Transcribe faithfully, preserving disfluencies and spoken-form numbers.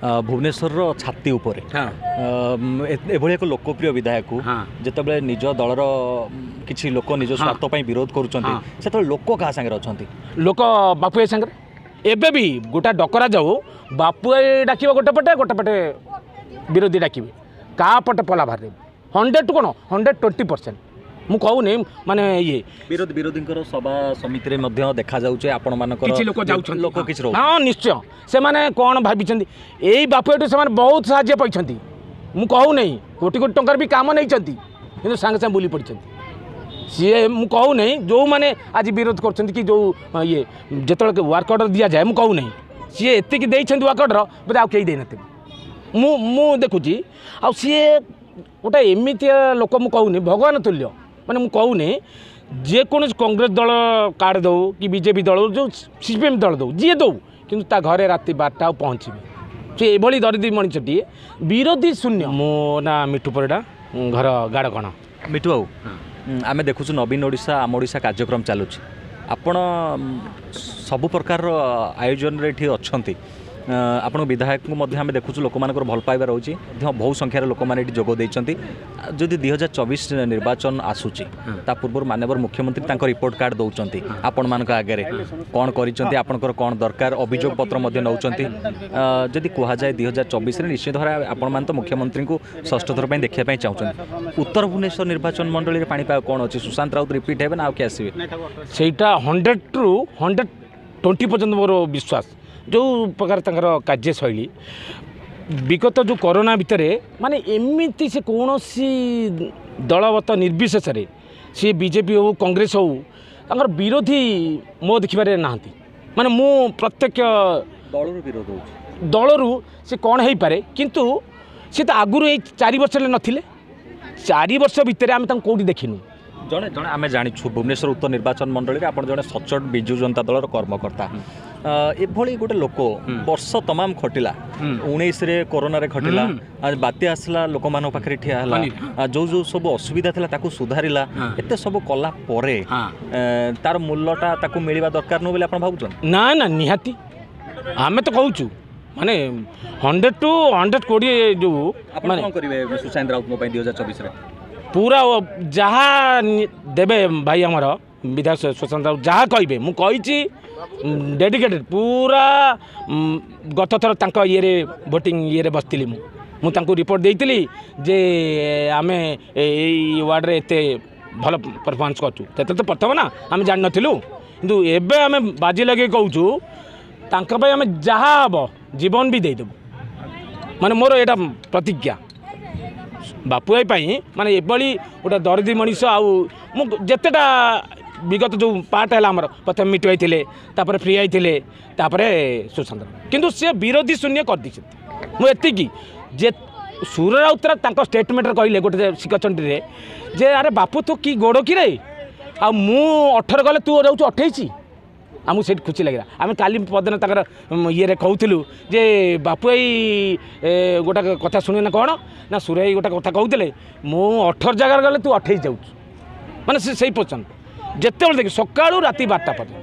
ଭୁବନେଶ୍ୱରର ଛାତି ଉପରେ ଏଭଳି ଏକ ଲୋକପ୍ରିୟ ବିଧାୟକକୁ ଯେତେବେଳେ ନିଜ ଦଳର କିଛି ଲୋକ ନିଜ ସ୍ୱାର୍ଥ ପାଇଁ ବିରୋଧ କରୁଛନ୍ତି ସେତେବେଳେ ଲୋକ କାହା ସାଙ୍ଗରେ ଅଛନ୍ତି ଲୋକ ବାପୁ ଭାଇ ସାଙ୍ଗରେ ଏବେ ବି ଗୋଟା ଡକରା ଯାଉ ବାପୁ ଭାଇ ଡାକିବ ଗୋଟେ ପଟେ ଗୋଟେ ପଟେ ବିରୋଧୀ ଡାକିବେ କାହା ପଟେ ପଲା ବାହାରିବ ହଣ୍ଡ୍ରେଡ଼ ଟୁ କ'ଣ ହଣ୍ଡ୍ରେଡ଼ ଟ୍ୱେଣ୍ଟି ପରସେଣ୍ଟ ମୁଁ କହୁନି ମାନେ ଇଏ ବିରୋଧୀ ବିରୋଧୀଙ୍କର ସଭା ସମିତିରେ ମଧ୍ୟ ଦେଖାଯାଉଛି ଆପଣମାନଙ୍କର କିଛି ଲୋକ ଯାଉଛନ୍ତି ଲୋକ କିଛି ହଁ ନିଶ୍ଚୟ ସେମାନେ କ'ଣ ଭାବିଛନ୍ତି ଏଇ ବାପୁ ଏଠୁ ସେମାନେ ବହୁତ ସାହାଯ୍ୟ ପାଇଛନ୍ତି ମୁଁ କହୁନାହିଁ କୋଟି କୋଟି ଟଙ୍କାର ବି କାମ ନେଇଛନ୍ତି କିନ୍ତୁ ସାଙ୍ଗେ ସାଙ୍ଗେ ବୁଲି ପଡ଼ିଛନ୍ତି ସିଏ ମୁଁ କହୁନାହିଁ ଯେଉଁମାନେ ଆଜି ବିରୋଧ କରୁଛନ୍ତି କି ଯେଉଁ ଇଏ ଯେତେବେଳେ ୱାର୍କ ଅର୍ଡ଼ର ଦିଆଯାଏ ମୁଁ କହୁନାହିଁ ସିଏ ଏତିକି ଦେଇଛନ୍ତି ୱାର୍କ ଅର୍ଡ଼ର ବୋଧେ ଆଉ କେହି ଦେଇନଥିବେ ମୁଁ ମୁଁ ଦେଖୁଛି ଆଉ ସିଏ ଗୋଟେ ଏମିତିଆ ଲୋକ ମୁଁ କହୁନି ଭଗବାନ ତୁଲ୍ୟ ମାନେ ମୁଁ କହୁନି ଯେକୌଣସି କଂଗ୍ରେସ ଦଳ କାର୍ଡ଼ ଦେଉ କି ବିଜେପି ଦଳ ଯେଉଁ ସି ପି ଏମ୍ ଦଳ ଦେଉ ଯିଏ ଦେଉ କିନ୍ତୁ ତା ଘରେ ରାତି ବାରଟା ଆଉ ପହଞ୍ଚିବେ ସେ ଏଭଳି ଦରିଦ୍ରୀ ମଣିଷଟିଏ ବିରୋଧୀ ଶୂନ୍ୟ ମୋ ନାଁ ମିଠୁ ପରିଡ଼ା ଘର ଗାଡ଼କଣ ମିଠୁ ବାବୁ ଆମେ ଦେଖୁଛୁ ନବୀନ ଓଡ଼ିଶା ଆମ ଓଡ଼ିଶା କାର୍ଯ୍ୟକ୍ରମ ଚାଲୁଛି ଆପଣ ସବୁ ପ୍ରକାରର ଆୟୋଜନରେ ଏଠି ଅଛନ୍ତି ଆପଣଙ୍କ ବିଧାୟକଙ୍କୁ ମଧ୍ୟ ଆମେ ଦେଖୁଛୁ ଲୋକମାନଙ୍କର ଭଲ ପାଇବା ରହୁଛି ମଧ୍ୟ ବହୁ ସଂଖ୍ୟାରେ ଲୋକମାନେ ଏଠି ଯୋଗ ଦେଇଛନ୍ତି ଯଦି ଦୁଇ ହଜାର ଚବିଶ ନିର୍ବାଚନ ଆସୁଛି ତା ପୂର୍ବରୁ ମାନ୍ୟବର ମୁଖ୍ୟମନ୍ତ୍ରୀ ତାଙ୍କ ରିପୋର୍ଟ କାର୍ଡ଼ ଦେଉଛନ୍ତି ଆପଣମାନଙ୍କ ଆଗରେ କ'ଣ କରିଛନ୍ତି ଆପଣଙ୍କର କ'ଣ ଦରକାର ଅଭିଯୋଗ ପତ୍ର ମଧ୍ୟ ନେଉଛନ୍ତି ଯଦି କୁହାଯାଏ ଦୁଇ ହଜାର ଚବିଶରେ ନିଶ୍ଚିତ ଭାବରେ ଆପଣମାନେ ତ ମୁଖ୍ୟମନ୍ତ୍ରୀଙ୍କୁ ଷଷ୍ଠ ଥର ପାଇଁ ଦେଖିବା ପାଇଁ ଚାହୁଁଛନ୍ତି ଉତ୍ତର ଭୁବନେଶ୍ୱର ନିର୍ବାଚନ ମଣ୍ଡଳୀରେ ପାଣିପାଗ କ'ଣ ଅଛି ସୁଶାନ୍ତ ରାଉତ ରିପିଟ୍ ହେବେ ନା ଆଉ କିଏ ଆସିବେ ସେଇଟା ହଣ୍ଡ୍ରେଡ଼ରୁ ହଣ୍ଡ୍ରେଡ଼ ଟ୍ୱେଣ୍ଟି ପର୍ଯ୍ୟନ୍ତ ମୋର ବିଶ୍ୱାସ ଯେଉଁ ପ୍ରକାର ତାଙ୍କର କାର୍ଯ୍ୟଶୈଳୀ ବିଗତ ଯେଉଁ କରୋନା ଭିତରେ ମାନେ ଏମିତି ସେ କୌଣସି ଦଳଗତ ନିର୍ବିଶେଷରେ ସିଏ ବିଜେପି ହେଉ କଂଗ୍ରେସ ହେଉ ତାଙ୍କର ବିରୋଧୀ ମୋ ଦେଖିବାରେ ନାହାନ୍ତି ମାନେ ମୁଁ ପ୍ରତ୍ୟକ୍ଷ ଦଳରୁ ବିରୋଧ ହେଉଛି ଦଳରୁ ସେ କ'ଣ ହେଇପାରେ କିନ୍ତୁ ସେ ତ ଆଗରୁ ଏଇ ଚାରି ବର୍ଷ ହେଲେ ନଥିଲେ ଚାରି ବର୍ଷ ଭିତରେ ଆମେ ତାଙ୍କୁ କେଉଁଠି ଦେଖିନୁ ଜଣେ ଜଣେ ଆମେ ଜାଣିଛୁ ଭୁବନେଶ୍ୱର ଉତ୍ତର ନିର୍ବାଚନ ମଣ୍ଡଳୀରେ ଆପଣ ଜଣେ ସଚ୍ଚୋଟ ବିଜୁ ଜନତା ଦଳର କର୍ମକର୍ତ୍ତା ଏଭଳି ଗୋଟେ ଲୋକ ବର୍ଷ ତମାମ ଖଟିଲା ଉଣେଇଶରେ କରୋନାରେ ଖଟିଲା ବାତ୍ୟା ଆସିଲା ଲୋକମାନଙ୍କ ପାଖରେ ଠିଆ ହେଲା ଯେଉଁ ଯେଉଁ ସବୁ ଅସୁବିଧା ଥିଲା ତାକୁ ସୁଧାରିଲା ଏତେ ସବୁ କଲା ପରେ ତାର ମୂଲ୍ୟଟା ତାକୁ ମିଳିବା ଦରକାର ନୁହଁ ବୋଲି ଆପଣ ଭାବୁଛନ୍ତି ନା ନା ନିହାତି ଆମେ ତ କହୁଛୁ ମାନେ ହଣ୍ଡ୍ରେଡ଼ ଟୁ ହଣ୍ଡ୍ରେଡ଼ କୋଡ଼ିଏ ଯେଉଁ ମାନେ କ'ଣ କରିବେ ସୁଶାନ୍ତ ରାଉତଙ୍କ ପାଇଁ ଦୁଇ ହଜାର ଚବିଶରେ ପୁରା ଯାହା ଦେବେ ଭାଇ ଆମର ବିଧାୟକ ସୁଶାନ୍ତ ରାଉତ ଯାହା କହିବେ ମୁଁ କହିଛି ଡେଡିକେଟେଡ଼ ପୁରା ଗତ ଥର ତାଙ୍କ ଇଏରେ ଭୋଟିଂ ଇଏରେ ବସିଥିଲି ମୁଁ ମୁଁ ତାଙ୍କୁ ରିପୋର୍ଟ ଦେଇଥିଲି ଯେ ଆମେ ଏଇ ୱାର୍ଡ଼ରେ ଏତେ ଭଲ ପରଫର୍ମାନ୍ସ କରୁଛୁ ସେତେବେଳେ ତ ପ୍ରଥମ ନା ଆମେ ଜାଣିନଥିଲୁ କିନ୍ତୁ ଏବେ ଆମେ ବାଜି ଲଗେଇ କହୁଛୁ ତାଙ୍କ ପାଇଁ ଆମେ ଯାହା ହେବ ଜୀବନ ବି ଦେଇଦେବୁ ମାନେ ମୋର ଏଇଟା ପ୍ରତିଜ୍ଞା ବାପୁ ଭାଇ ପାଇଁ ମାନେ ଏଭଳି ଗୋଟେ ଦରିଦ୍ରୀ ମଣିଷ ଆଉ ମୁଁ ଯେତେଟା ବିଗତ ଯେଉଁ ପାର୍ଟ ହେଲା ଆମର ପ୍ରଥମେ ମିଟୁ ଭାଇ ଥିଲେ ତାପରେ ପ୍ରିୟା ଭାଇ ଥିଲେ ତାପରେ ସୁଶାନ୍ତ କିନ୍ତୁ ସେ ବିରୋଧୀ ଶୂନ୍ୟ କରିଦେଇଛନ୍ତି ମୁଁ ଏତିକି ଯେ ସୁର ରାଉତରା ତାଙ୍କ ଷ୍ଟେଟମେଣ୍ଟରେ କହିଲେ ଗୋଟେ ଶିଖଚଣ୍ଡୀରେ ଯେ ଆରେ ବାପୁ ତୁ କି ଗୋଡ଼ କିରେ ଆଉ ମୁଁ ଅଠର ଗଲେ ତୁ ଯାଉଛୁ ଅଠେଇଶ ଆମକୁ ସେଇଠି ଖୁସି ଲାଗିଲା ଆମେ କାଲି ପରଦିନ ତାଙ୍କର ଇଏରେ କହୁଥିଲୁ ଯେ ବାପୁ ଭାଇ ଗୋଟା କଥା ଶୁଣିବେ ନା କ'ଣ ନା ସୁର ଭାଇ ଗୋଟେ କଥା କହୁଥିଲେ ମୁଁ ଅଠର ଜାଗାରେ ଗଲେ ତୁ ଅଠେଇଶ ଯାଉଛୁ ମାନେ ସେ ସେଇ ପୋଜିସନ୍ ଯେତେବେଳେ ଦେଖି ସକାଳୁ ରାତି ବାରଟା ପର୍ଯ୍ୟନ୍ତ